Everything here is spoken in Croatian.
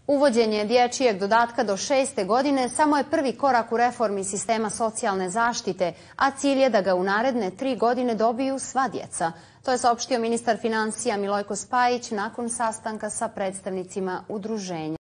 Uvođenje dječjeg dodatka do 6. godine samo je prvi korak u reformi sistema socijalne zaštite, a cilj je da ga u naredne 3 godine dobiju sva djeca. To je saopštio ministar financija Milojko Spajić nakon sastanka sa predstavnicima udruženja.